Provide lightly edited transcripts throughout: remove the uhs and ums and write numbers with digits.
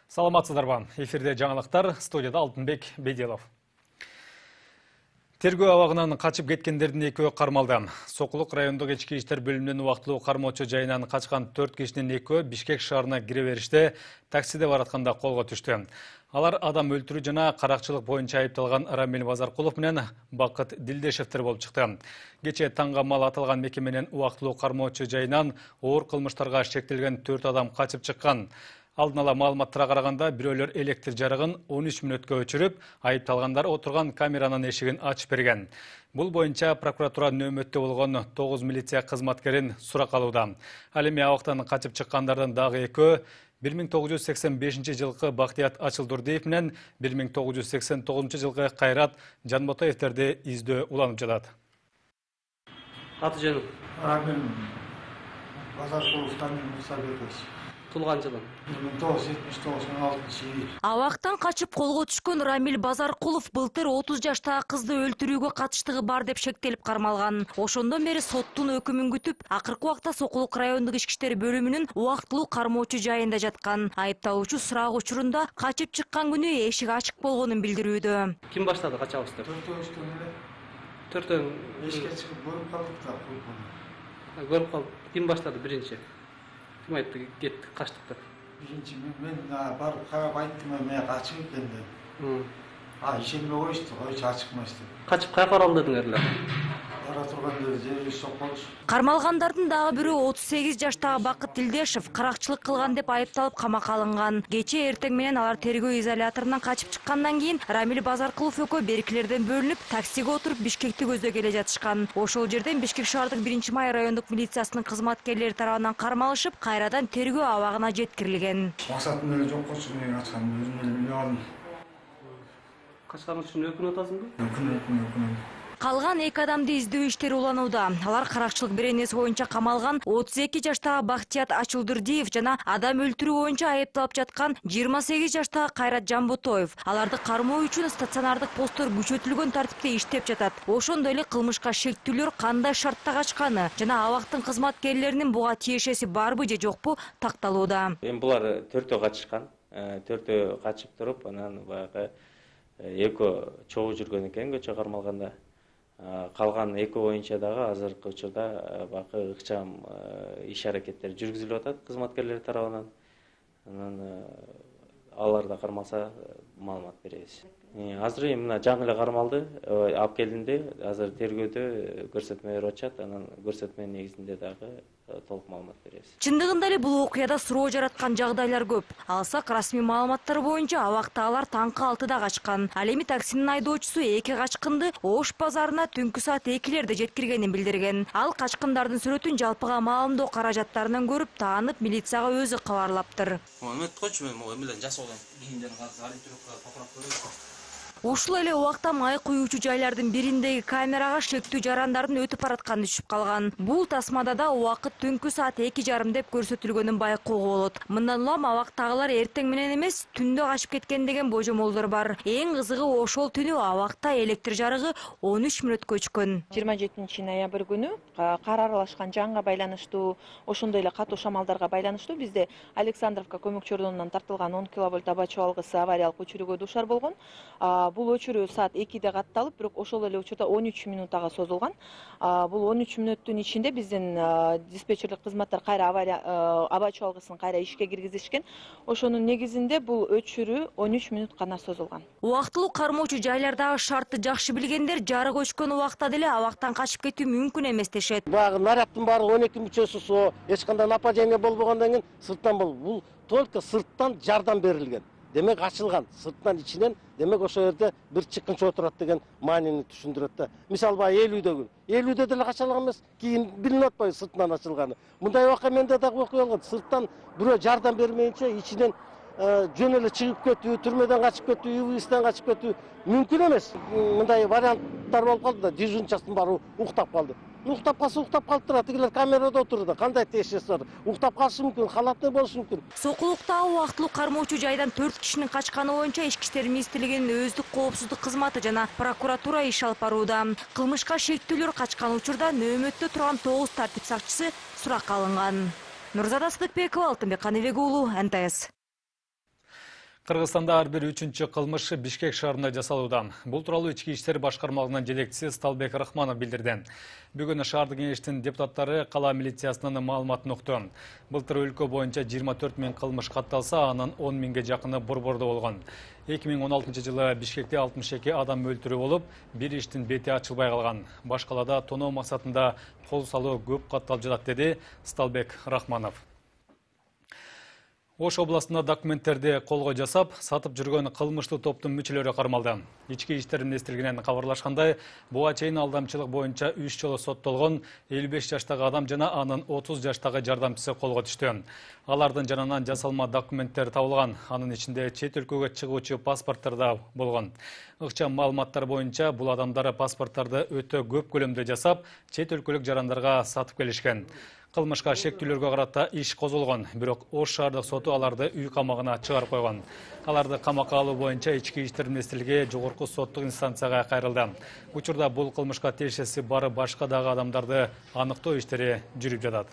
Саламатсыздарбы. Эфирде жаңалыктар, студияда Алтынбек Беделов. Тергөө абагынан качып кеткендердин экөө кармалды. Сокулук райондук ички иштер бөлүмүнүн убактылуу кармоочу жайынан качкан 4 кишинин экөө Бишкек шаарына кире бериште таксиде баратканда колго түштү. Алар адам өлтүрүү жана каракчылык боюнча айыпталган Рамил Базаркулов менен Бакыт Дилдешевдер болуп чыкты. Кечээ таңга мал аталган мекеменин убактылуу кармоочу жайынан оор кылмыштарга шектелген 4 адам качып чыккан. Алдын ала маалыматтарга караганда бирөөлөр электр жарыгын 13 мүнөткө өчүрүп, айыпталгандар отурган камеранын эшигин ачып берген. Бул боюнча прокуратура нөөмөттө болгон 9 милиция кызматкерин суракка алууда. Ал эми абактан качып чыккандардын дагы экөө 1985 жылкы Бактият Ачылдурдиев менен 1989 жылкы Кайрат Жанботоевтерди издөө уланып жатат. Аты жөнүм Рамил Базаркулов Мусабекович. Тулган жылы 1979-16-йыл. Абактан качып колго түшкөн Рамил Базаркулов былтыр 30 жаштагы кызды өлтүрүүгө катыштыгы бар деп шектелип кармалган. Ошондон бери соттун өкүмүн күтүп, акыркы убакта Сокулук райондук ички иштер бөлүмүнүн убактылуу кармоочу жайында жаткан. Айыпталуучу сурак учурунда качып чыккан күнү эшик ачык болгонун билдирүүдө. Ким баштады качабызды? Төртөө Эшикке чыгып көрүп калдык да. көрүп калдык. Ким баштады биринчи? Ким айтты кеттик качтык деп? Биринчи мен барып карап айттым, мен качып экен деп. Ишенбей коюшту, койчу ачыкмайсыз деп. Качып каяка баралдыңар эле? Бара турганда жери сокколуш. Кармалгандардын дагы бирөө 38 жаштагы Бакыт Дилдешев каракчылык кылган деп айыпталып камакка алынган. Кечээ эртең менен алар тергөө изоляторунан качып чыккандан кийин Рамил Базаркулов экөө беркилерден бөлүнүп, таксиге отуруп Бишкекти көздөй келе жатышкан. Ошол жерден Бишкек шаардык 1-май райондук милициясынын кызматкерлери тарабынан кармалышып, кайрадан тергөө абагына жеткирилген. Максатым эле жок болчу, мен ачкан өзүм эле билип алдым. Качкан үчүн өкүнүп атасыңбы? Өкүнөм. Калган 2 адамды издөө иштери уланууда. Алар каракчылык беренеси боюнча камалган 32 жаштагы Бактият Ачылдурдиев жана адам өлтүрүү боюнча айыпталып жаткан 28 жаштагы Кайрат Жанботоев. Аларды кармоо үчүн стационардык посттор күчөтүлгөн тартипте иштеп жатат. Ошондой эле кылмышка шектүүлөр кандай шартта качканы жана абактын кызматкерлеринин буга тиешеси барбы же жокпу такталууда. Эми булар төртөө качышкан. Төртөө качып туруп, анан баягы экөө чогуу жүргөн экен көчө кармалганда. Калган экөө боюнча дагы азыркы учурда бакы ыкчам иш аракеттер жүргүзүлүп атат кызматкерлер тарабынан. Анан алар да кармалса маалымат беребиз. Азыр эми мына жаңы эле кармалды, алып келинди. Азыр тергөөдө көрсөтмө берип атышат. Анан көрсөтмөнүн негизинде дагы толук маалымат беребиз. Чындыгында эле бул окуяда суроо жараткан жагдайлар көп. Алсак расмий маалыматтар боюнча абакта алар таңкы 6-да качкан. Ал эми таксинин айдоочусу эки качкынды Ош базарына түнкү саат 2-лерде жеткиргенин билдирген. Ал качкындардын сүрөтүн жалпыга маалымдоо каражаттарынан көрүп, таанып милицияга өзү кабарлаптыр. Ушул эле убакта май куюучу жайлардын бириндеги камерага шектүү жарандардын өтүп баратканы түшүп калган. Бул тасмада да убакыт түнкү саат 2:30 деп көрсөтүлгөнүн байкоого болот. Мындан улам абактагылар эртең менен эмес, түндө качып кеткен деген божомолдор бар. Эң кызыгы ошол түнү абакта электр жарыгы 13 мүнөткө өчкөн. 27 ноябрь күнү кар аралашкан жанга байланыштуу, ошондой эле катуу шамалдарга байланыштуу бизде Александровка көмөкчү ордунан тартылган 10 киловольт аба чабалгысы авариялык өчүрүүгө дуушар болгон. Бул өчүрүү саат 2-де катталып, бирок ошол эле учурда 13 мүнөттага созулган. Бул 13 мүнөттүн ичинде биздин диспетчерлик кызматтар кайра аба чабалгысын кайра ишке киргизишкен. Ошонун негизинде бул өчүрүү 13 мүнөт гана созулган. Убактылуу кармоочу жайлардагы шартты жакшы билгендер жарык өчкөн убакта деле абактан качып кетүү мүмкүн эмес дешет. Баягы нарядтын баары 12 мүчөсү со, эч кандай нападение болбогондон кийин сырттан бул только сырттан жардам берилген. Демек ачылган, сырттан ичинен, демек ошол жерде бир чыккынчы отурат деген маанини түшүндүрөт да. Мисалы баягы 50-дө деле качалган эмес, кийин билинип атпайбы сыртынан ачылганы. Мындай вакыа менде дагы окуя болгон. Сырттан бирөө жардам бермейинче ичинен жөн эле чыгып кетүү, түрмөдөн качып кетүү, ИВС'тен качып кетүү мүмкүн эмес. Мындай варианттар болуп калды да, дежурчастын баары уктап калды. Уктап калса уктап калыптыр, тигилер камерада отурду. Кандай тиешеси бар? Уктап калышы мүмкүн, халатный болушу мүмкүн. Сокулуктагы убактылуу кармоочу жайдан 4 кишинин качканы боюнча Ички иштер министрлигинин өздүк коопсуздук кызматы жана прокуратура иш алып барууда. Кылмышка шектүүлөр качкан учурда нөөмөттө турган 9 тартип сакчысы суракка алынган. Нурзада Сыдыкбекова, Алтынбек Каныбек уулу, НТС. Кыргызстанда ар бир 3-чү кылмыш Бишкек шаарында жасалууда. Бул тууралуу Ички иштер башкармалыгынын жетекчиси Сталбек Рахманов билдирди. Бүгүн шаардык кеңештин депутаттары кала милициясынын маалыматын укту. Былтыр өлкө боюнча 24 000 кылмыш катталса, анын 10 000ге жакыны борбордо болгон. 2016 жылы Бишкекте 62 адам өлтүрүү болуп, бир иштин бети ачылбай калган. Баш калада тоноо максатында кол салуу көп катталып жатат, деди Сталбек Рахманов. Ош областында документтерди колго жасап, сатып жүргөн кылмыштуу топтун мүчөлөрү кармалды. Ички иштер министрлигинен кабарлашкандай, буга чейин алдамчылык боюнча 3 жолу соттолгон 55 жаштагы адам жана анын 30 жаштагы жардамчысы колго түштү. Алардын жанынан жасалма документтер табылган. Анын ичинде чет өлкөгө чыгуучу паспорттор да болгон. Ыкчам маалыматтар боюнча бул адамдар паспорттарды өтө көп көлөмдө жасап, чет өлкөлүк жарандарга сатып келишкен. Кылмышка шектүүлөргө карата иш козголгон, бирок Ош шаардык соту аларды үй камагына чыгарып койгон. Аларды камакка алуу боюнча Ички иштер министрлиги жогорку соттук инстанцияга кайрылды. Учурда бул кылмышка тиешеси бар башка дагы адамдарды аныктоо иштери жүрүп жатат.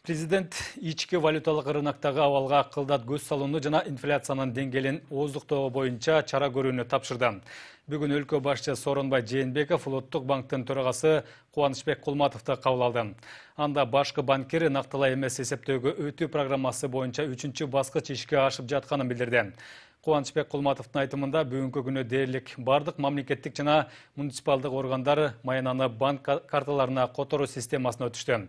Президент ички валюталык рыноктогу абалга кылдат көз салууну жана инфляциянын деңгээлин ооздуктоо боюнча чара көрүүнү тапшырды. Бүгүн өлкө башчысы Сооронбай Жээнбеков Улуттук банктын төрагасы Кубанычбек Кулматовду кабыл алды. Анда башкы банкир нактылай эмес эсептөөгө өтүү программасы боюнча 3-чү баскыч ишке ашып жатканын билдирди. Кубанычбек Кулматовдун айтымында бүгүнкү күнү дээрлик бардык мамлекеттик жана муниципалдык органдар маянаны банк карталарына которуу системасына өтүштү.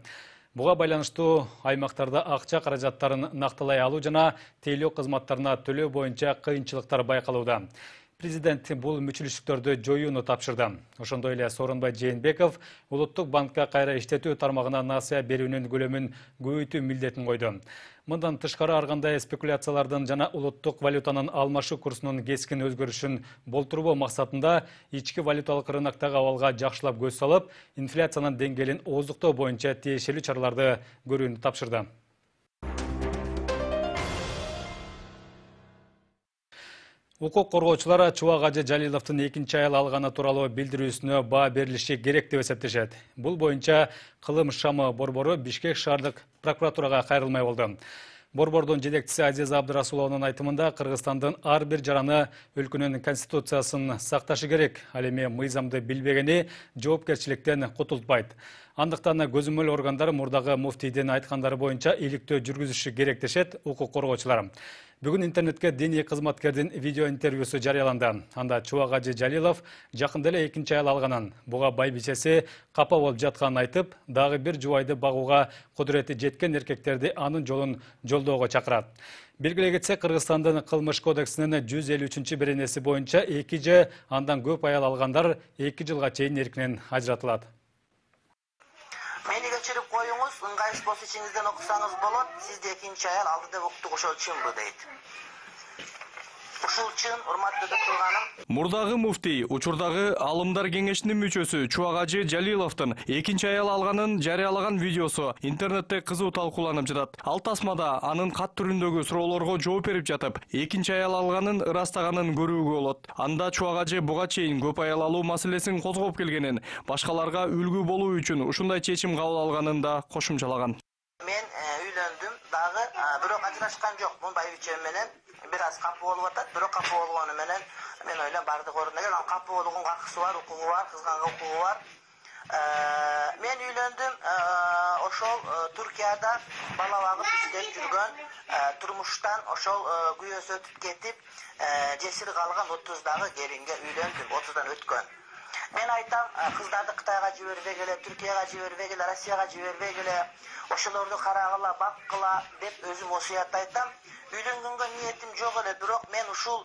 Буга байланыштуу аймактарда акча каражаттарын нактылай алуу жана тейлөө кызматтарына төлөө боюнча кыйынчылыктар байкалууда. Президент бул мүчүлүштүктөрдү жоюуну тапшырды. Ошондой эле Сооронбай Жээнбеков Улуттук банкка кайра иштетүү тармагына насыя берүүнүн көлөмүн көбөйтүү милдетин койду. Мындан тышкары ар кандай спекуляциялардын жана улуттук валютанын алмашуу курсунун кескин өзгөрүшүн болтурбоо максатында ички валюталык рыноктогу абалга жакшылап көз салып, инфляциянын деңгээлин ооздуктоо боюнча тиешелүү чараларды көрүүнү тапшырды. Укук коргоочулар Чубак Ажы Жалиловдун 2-чи аял алганы тууралуу билдирүүсүнө баа берилиши керек деп эсептешет. Бул боюнча кылым шамы борбору Бишкек шаардык прокуратурага кайрылмай болду. Борбордун жетекчиси Азиза Абдырасулованын айтымында Кыргызстандын ар бир жараны өлкөнүн конституциясын сакташы керек. Ал эми мыйзамды билбегени жоопкерчиликтен кутултпайт. Андыктан көзөмөл органдар мурдагы муфтийдин айткандары боюнча иликтөө жүргүзүшү керек дешет укук коргоочулар. Бүгүн интернетке диний кызматкердин видео интервьюсу жарыяланды. Анда Чубак Ажы Жалилов жакында эле 2-чи аял алганын, буга байбичеси капа болуп жатканын айтып, дагы бир жубайды багууга кудурети жеткен эркектерди анын жолун жолдоого чакырат. Белгилей кетсек, Кыргызстандын кылмыш кодексинин 153-беренеси боюнча 2 же андан көп аял алгандар 2 жылга чейин эркинен ажыратылат. Мени кечирип коюңуз, ыңгайсыз болсо ичиңизден окусаңыз болот. Сизде 2-чи аял алды деп уктук, ошол чынбы дейт. Ушул чын, урматтуу тутулганым. Мурдагы муфтий учурдагы алымдар кеңешинин мүчөсү Чубак Ажы Жалиловдун 2-чи аял алганын жарыялаган видеосу интернетте кызуу талкууланып жатат. Ал тасмада анын кат түрүндөгү суроолорго жооп берип жатып, 2-чи аял алганын ырастаганын көрүүгө болот. Анда Чубак Ажы буга чейин көп аял алуу маселесин козгоп келгенин, башкаларга үлгү болуу үчүн ушундай чечим кабыл алганын да кошумчалаган. Мен үйлөндүм, дагы бирок ажырашкан жокмун байбичем менен. Бир аз капы болуп атат, бирок капы болгону менен мен ойлойм бардык ордуна келген, капы болгонго акысы бар, укугу бар, кызганга укугу бар. Мен үйлөндүм, ошол Туркияда бала багып иштеп жүргөн, турмуштан ошол күйөөсү өтүп кетип, жесир калган 30-дагы келинге үйлөндүм, 30дан өткөн. Мен айтам, кыздарды Кытайга жибербегиле, Түркияга жибербегиле, Россияга жибербегиле, ошолорду карагыла, баккыла деп өзүм осуят айтам. Үйлөнгөнгө ниетим жок эле, бирок мен ушул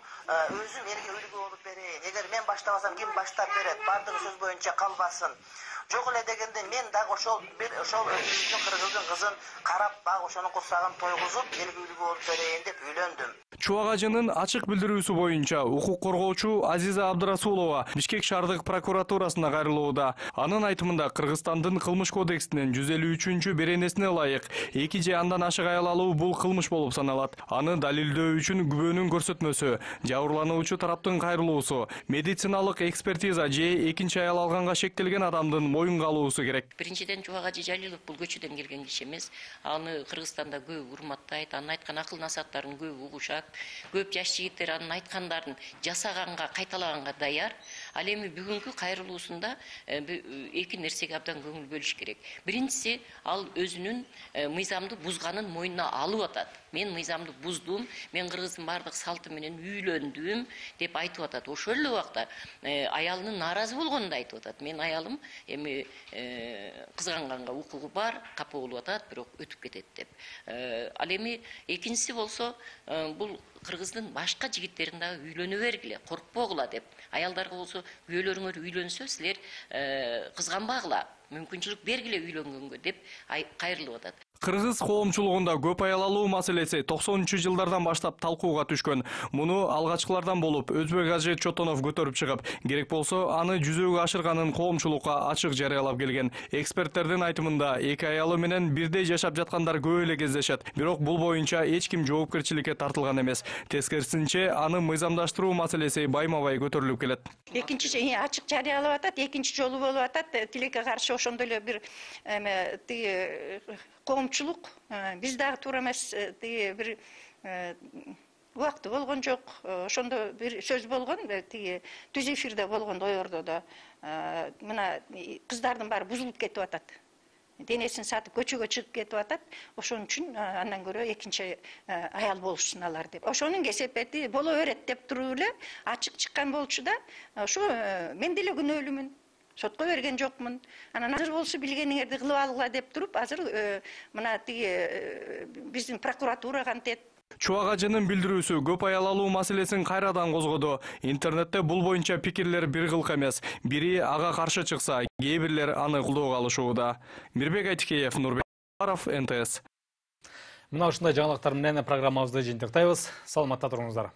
өзүм элге үлгү болуп берейин. Эгер мен баштабасам ким баштап берет? Бардыгы сөз боюнча калбасын. Жок эле дегенде мен дагы ошол өзүмдүн кыргыздын кызын карап, дагы ошонун курсагын тойгузуп, элге үлгү болуп берейин деп үйлөндүм. Чубак Ажынын ачык билдирүүсү боюнча укук коргоочу Азиза Абдырасулова Бишкек шаардык прокуратурасына кайрылууда. Анын айтымында Кыргызстандын кылмыш кодексинин 153-беренесине ылайык 2 же андан ашык аял алуу бул кылмыш болуп саналат. Аны далилдөө үчүн күбөнүн көрсөтмөсү, жабырлануучу тараптын кайрылуусу, медициналык экспертиза же 2-чи аял алганга шектелген адамдын моюнга алуусу керек. Биринчиден Чубак Ажы Жалилов бул көчөдөн келген киши эмес. Аны Кыргызстанда көп урматтайт, анын айткан акыл насааттарын көп угушат. Көп жаш жигиттер анын айткандарын жасаганга, кайталаганга даяр. Ал эми бүгүнкү кайрылуусунда эки нерсеге абдан көңүл бөлүш керек. Биринчиси, ал өзүнүн мыйзамды бузганын мойнуна алып атат. Мен мыйзамды буздум, мен Кыргыздын бардык салты менен үйлөндүм деп айтып атат. Ошол эле убакта аялынын нааразы болгонун да айтып атат. Мен аялым эми кызганганга укугу бар, капа болуп атат, бирок өтүп кетет деп. Ал эми экинчиси болсо, бул Кыргыздын башка жигиттерин дагы үйлөнө бергиле, коркпогула деп. Аялдарга болсо күйөөлөрүңөр үйлөнсө, силер кызганбагыла, мүмкүнчүлүк бергиле үйлөнгөнгө деп кайрылып атат. Кыргыз коомчулугунда көп аял алуу маселеси 90-жылдардан баштап талкууга түшкөн. Муну алгачкылардан болуп Өзбек Ажы Чотонов көтөрүп чыгып, керек болсо аны жүзөгө ашырганын коомчулукка ачык жарыялап келген. Эксперттердин айтымында эки аялы менен бирдей жашап жаткандар көп эле кездешет. Бирок бул боюнча эч ким жоопкерчиликке тартылган эмес. Тескерисинче, аны мыйзамдаштыруу маселеси байма-бай көтөрүлүп келет. Экинчи ачык жарыялап атат, экинчи жолу болуп атат. Тилекке каршы ошондой эле бир коомчулук биз дагы туура эмес бир убакыты болгон жок. Ошондо бир сөз болгон, түз эфирде болгон доордо да мына кыздардын баары бузулуп кетип атат. Денесин сатып көчөгө чыгып кетип атат. Ошон үчүн андан көрө экинчи аял болушсун алар деп. Ошонун кесепети боло берет деп туруп эле ачык чыккан болчу да, ошо мен деле күнөөлүүмүн. Сотко берген жокмун. Анан азыр болсо билгениңерди кылып алгыла деп туруп, азыр мына биздин прокуратурага антет. Чубак Ажынын билдирүүсү көп аял алуу маселесин кайрадан козгоду. Интернетте бул боюнча пикирлер бир кылк эмес. Бири ага каршы чыкса, кээ бирлер аны колдоого алышууда. Мирбек Айтикеев, Нурбек Баров, НТС. Мына ушундай жаңылыктар менен программабызды жыйынтыктайбыз. Саламатта туруңуздар.